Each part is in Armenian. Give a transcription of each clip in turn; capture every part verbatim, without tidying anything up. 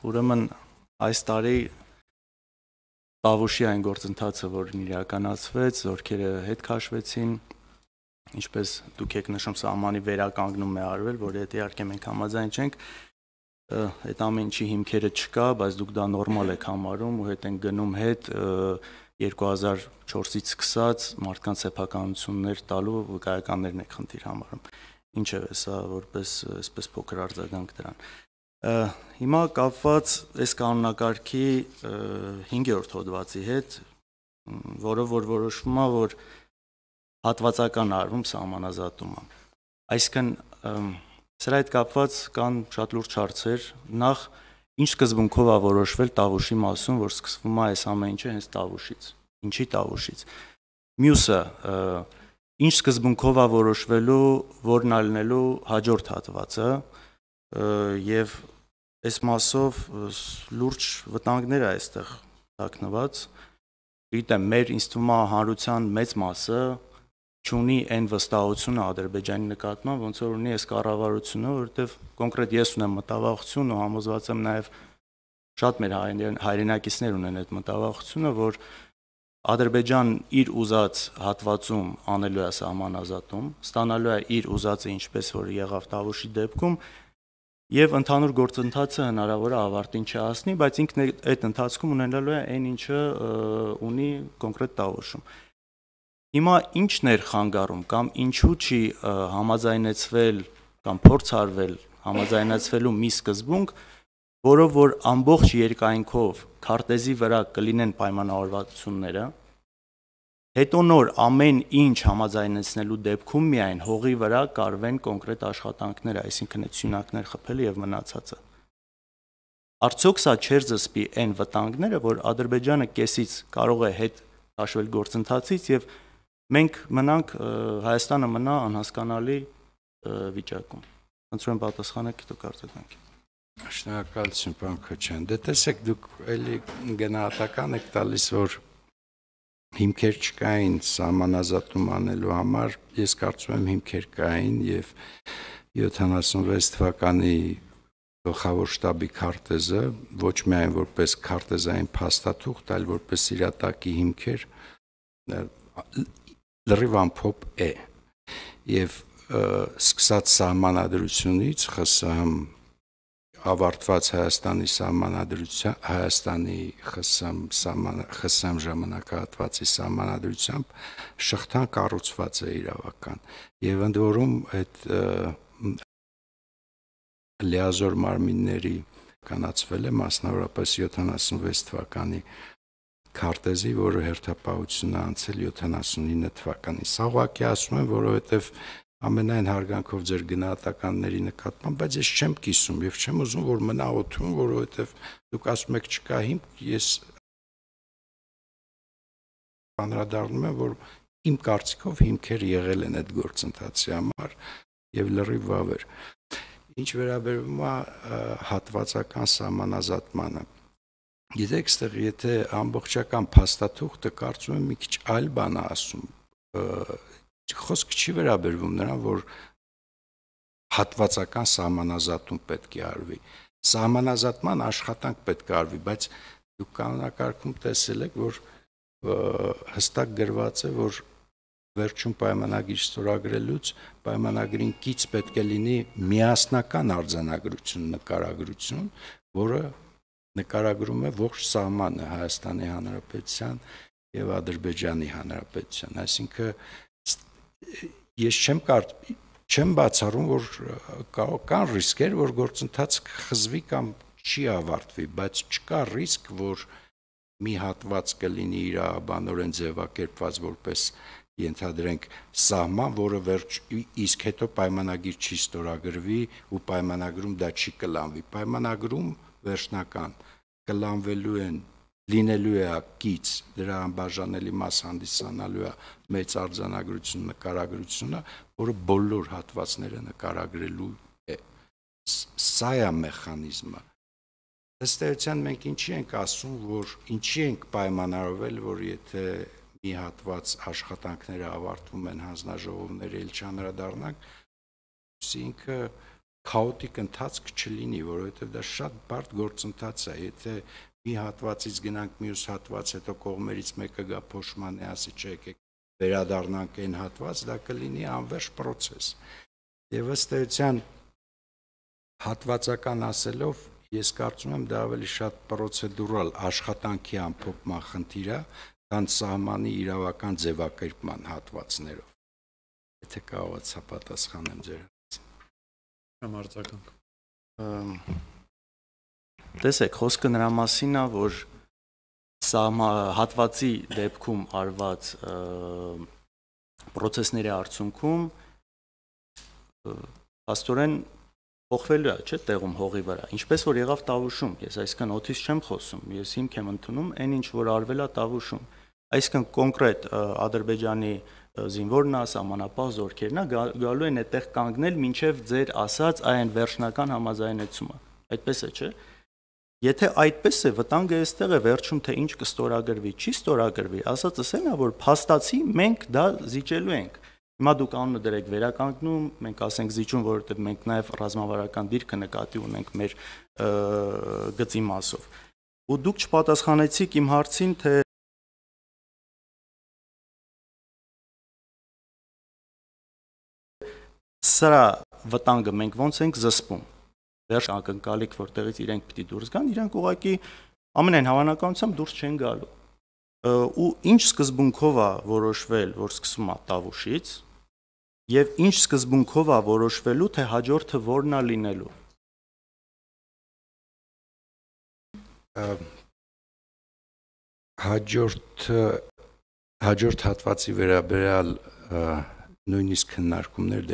ուրեմն այս տարի Տավուշի այն գործընթացը, որն իրականացվեց, զորքերը հետ քաշվեցին, ինչպես դուք եք նշում, սահմանի վերականգնում է արվել, որի հետ իհարկե մենք համաձայն չենք, այդ ամեն ինչի հիմքերը չկա, բայց դուք դա նորմալ եք համարում ու հետ են գնում հետ երկու հազար չորսից սկսած մարդկանց սեփականություններ տալու վկայականներն եք խնդիր համարում։ Ինչև է սա որպես այսպես փոքր արձագանք դրան։ Հիմա կապված այս կանոնակարգի հինգերորդ հոդվածի հետ, որով որ որոշվում է, որ հատվածական արվում սահմանազատումը։ Այսինքն սրա հետ կապված կան շատ լուրջ հարցեր, նախ ինչ սկզբունքով է որոշվել Տավուշի մասում, որ սկսվում է այս ամեն ինչը հենց Տավուշից, ինչի Տավուշից։ Մյուսը ինչ սկզբունքով է որոշվելու, որն է լինելու հաջորդ հատվածը, եւ այս մասով լուրջ վտանգներ է այստեղ թաքնված։ Գիտեմ, մեր ինձ թվում է հանրության մեծ մասը չունի այն վստահությունը Ադրբեջանի նկատմամբ, ոնց որ ունի այս կառավարությունը, որովհետեւ կոնկրետ ես ունեմ մտավախություն ու համոզված եմ նաեւ շատ մեր հայրենակիցներ ունեն այդ մտավախությունը, որ Ադրբեջանն իր ուզած հատվածում անելու է սահմանազատում, ստանալու է իր ուզածը, ինչպես որ եղավ Տավուշի դեպքում, եւ ընդհանուր գործընթացը հնարավոր է ավարտին չհասնի, բայց ինքն այդ ընթացքում ունենալու է այն, ինչը ունի կոնկրետ Տավուշում։ Հիմա ի՞նչն էր խանգարում կամ ինչու չի համաձայնեցվել կամ փորձարվել համաձայնեցվելու մի սկզբունք, որով որ ամբողջ երկայնքով քարտեզի վրա կլինեն պայմանավորվածությունները, հետո նոր ամեն ինչ համաձայնեցնելու դեպքում միայն հողի վրա կարվեն կոնկրետ աշխատանքները, այսինքն այդ սյունակներ խփելը եւ մնացածը։ Արդյոք սա չէր զսպի այն վտանգները, որ Ադրբեջանը կեսից կարող է հետ քաշվել գործընթացից եւ մենք մնանք, Հայաստանը մնա անհասկանալի վիճակում։ Խնդրում եմ պատասխանեք դուք արձագանքի։ Շնորհակալություն, պարոն Քոչարյան։ Դե տեսեք, դուք էլի գնահատական եք տալիս, որ հիմքեր չկային սահմանազատում անելու համար, ես կարծում եմ հիմքեր կային եւ յոթանասունվեց թվականի գլխավոր շտաբի քարտեզը ոչ միայն որպես քարտեզային փաստաթուղթ, այլ որպես իրատակի հիմքեր լրիվ ամփոփ է եւ սկսած սահմանադրությունից ԽՍՀՄ ավարտված Հայաստանի սահմանադրության Հայաստանի ԽՍՀՄ ժամանակահատվածի սահմանադրությամբ շղթան կառուցված է իրավական եւ ընդ որում այդ լիազոր մարմինների կանացվել է մասնավորապես յոթանասունվեց թվականի քարտեզի, որը հերթապահությունը անցել յոթանասունինը թվականին։ Սա ուղղակի ասում եմ, որովհետեւ ամենայն հարգանքով ձեր գնահատականների նկատմամբ, բայց ես չեմ կիսում եւ չեմ ուզում, որ մնա օդում, որովհետեւ դուք ասում եք չկա հիմք, ես անդրադառնում եմ, որ իմ կարծիքով հիմքեր եղել են այդ գործընթացի համար եւ լրիվ վավեր։ Ինչ վերաբերում է հատվածական սահմանազատմանը, գիտեք, այստեղ եթե ամբողջական փաստաթուղթը կարծում եմ մի քիչ այլ բան է ասում, խոսքը չի վերաբերվում նրան, որ հատվածական սահմանազատում պետք է արվի։ Սահմանազատման աշխատանք պետք է արվի, բայց դուք կանոնակարգում տեսել եք, որ հստակ գրված է, որ վերջում պայմանագիր ստորագրելուց պայմանագրին կից պետք է լինի միասնական արձանագրություն, նկարագրություն, որը նկարագրում է ողջ սահմանը Հայաստանի Հանրապետության եւ Ադրբեջանի Հանրապետության, այսինքն ես չեմ կարծ չեմ բացառում, որ կան ռիսկեր, որ գործընթացը կխզվի կամ չի ավարտվի, բայց չկա ռիսկ, որ մի հատված կլինի իրավաբանորեն ձևակերպված որպես ենթադրենք սահման, որը վերջ իսկ հետո պայմանագիր չի ստորագրվի ու պայմանագրում դա չի կլանվի։ Պայմանագրում վերջնական կլանվելու են լինելու է կից, դրա անբաժանելի մաս հանդիսանալու է մեծ արձանագրություն նկարագրությունը, որը բոլոր հատվածները նկարագրելու է։ Սա է մեխանիզմը։ Ըստ էության մենք ինչի ենք ասում, որ ինչի ենք պայմանավորվել, որ եթե մի հատված աշխատանքները ավարտվում են հանձնաժողովները ել չանդրադառնանք, ինքը քաոտիկ ընթացք չլինի, որովհետև դա շատ բարդ գործընթաց է, եթե մի հատվածից գնանք մյուս հատված, հետո կողմերից մեկը գա փոշմանե, ասի չէ, եկեք վերադառնանք այն հատված, դա կլինի անվերջ process։ Եվ ըստ էության հատվածական ասելով, ես կարծում եմ դա ավելի շատ պրոցեդուրալ աշխատանքի ամփոփման խնդիր է, քան սահմանի իրավական ձևակերպման հատվածներով։ Եթե կարողացա պատասխանեմ ձեր Համարձականք։ Տեսեք, խոսքը նրա մասին է, որ հատվածի դեպքում արված պրոցեսների արդյունքում աստորեն փոխվելու է, չէ՞, տեղում հողի վրա։ Ինչպես որ եղավ Տավուշում, ես այսքան օթից չեմ խոսում, ես հիմք եմ ընդունում այն ինչ որ արվել է Տավուշում։ Այսքան կոնկրետ Ադրբեջանի զինվորն է, սահմանապահ զորքերն է, գալու են այդտեղ կանգնել մինչև ձեր ասած այն վերջնական համաձայնեցումը։ Այդպես է, չէ՞։ Եթե այդպես է, վտանգը այստեղ է վերջում, թե ինչ կստորագրվի, չի ստորագրվի, ասածս այն է, որ փաստացի մենք դա զիջելու ենք։ Հիմա դուք անունը դրեք վերականգնում, մենք ասենք զիջում, որովհետև մենք նաև ռազմավարական դիրքը նկատի ունենք մեր գծի մասով։ Ու դուք չպատասխանեցիք իմ հարցին, թե սրա վտանգը մենք ոնց ենք զսպում։ Վերջ ակնկալիք, որտեղից իրենք պիտի դուրս գան, իրենք ուղղակի ամենայն հավանականությամբ դուրս չեն գալու։ Ու ինչ սկզբունքով է որոշվել, որ սկսում է Տավուշից, եւ ինչ սկզբունքով է որոշվելու, թե հաջորդը որն է լինելու։ Հաջորդ հաջորդ հատվածի վերաբերյալ նույնիսկ քննարկումներ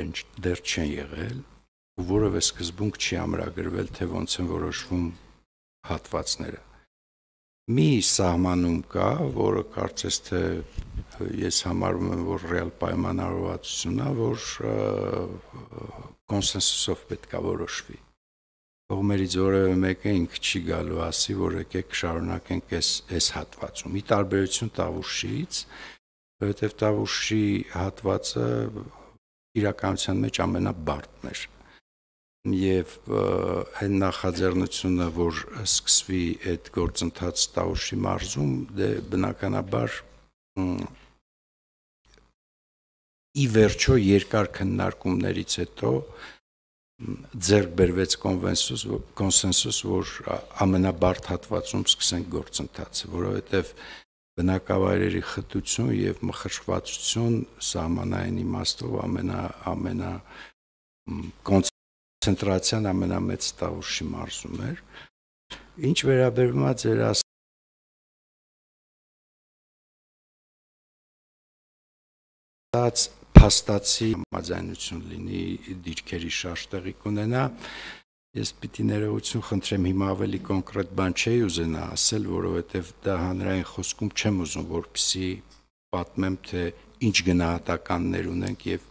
դեռ չեն եղել, ու որևէ սկզբունք չի ամրագրվել, թե ոնց են որոշվում հատվածները։ Մի սահմանում կա, որը կարծես թե ես համարում եմ, որ ռեալ պայմանավորվածություն է, որ կոնսենսուսով պետք է որոշվի։ Կողմերից որևէ մեկը ինքը չի գալու ասի, որ եկեք շարունակենք այս այս հատվածում։ Ի տարբերություն Տավուշից, որովհետև Տավուշի հատվածը իրականության մեջ ամենաբարդն էր։ Եվ այն նախաձեռնությունը, որ սկսվի այդ գործընթաց Տավուշի մարզում, դե բնականաբար ի վերջո երկար քննարկումներից հետո ձեռք բերվեց կոնսենսուս, որ ամենաբարդ հատվածում սկսենք գործընթացը, որովհետև բնակավայրերի խտություն եւ մխրճվածություն սահմանային իմաստով ամենա ամենա կոնցենտրացիան ամենամեծ Տավուշի մարզում էր։ Ինչ վերաբերում է ձեր ասած փաստացի համաձայնություն լինի, դիրքերի շարժ տեղի կունենա, ես պիտի ներողություն խնդրեմ, հիմա ավելի կոնկրետ բան չէի ուզենա ասել, որովհետև դա հանրային խոսքում չեմ ուզում, որպեսզի պատմեմ, թե ինչ գնահատականներ ունենք եւ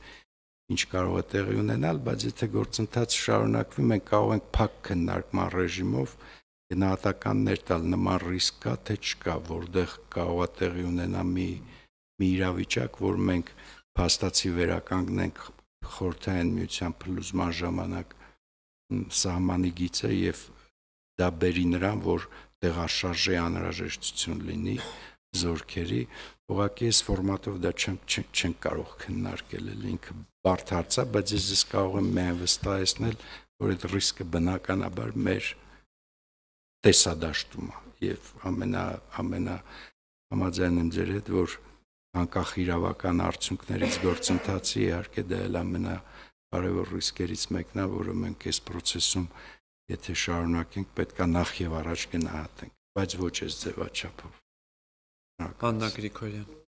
ինչ կարող է տեղի ունենալ, բայց եթե գործընթացը շարունակվի, մենք կարող ենք փակ քննարկման ռեժիմով գնահատականներ տալ, նման ռիսկ կա, թե չկա, որտեղ կարող է տեղի ունենա մի մի իրավիճակ, որ մենք փաստացի վերականգնենք խորհրդային միության փլուզման ժամանակ սահմանի գիծը եւ դա բերի նրան, որ տեղաշարժի անհրաժեշտություն լինի զորքերի, ուղղակի այս ֆորմատով դա չեն չեն կարող քննարկել, ինքը բարդ հարց է, բայց ես ես կարող եմ միայն վստահեցնել, որ այդ ռիսկը բնականաբար մեր տեսադաշտում է եւ ամենա ամենա համաձայն եմ ձեր հետ, որ անկախ իրավական արդյունքներից գործընթացի իհարկե դա էլ ամենակարևոր ռիսկերից մեկն է, որը մենք այս process-ում եթե շարունակենք, պետք է նախ եւ առաջ գնահատենք, բայց ոչ այս ձևաչափով։ Աննա Գրիգորյան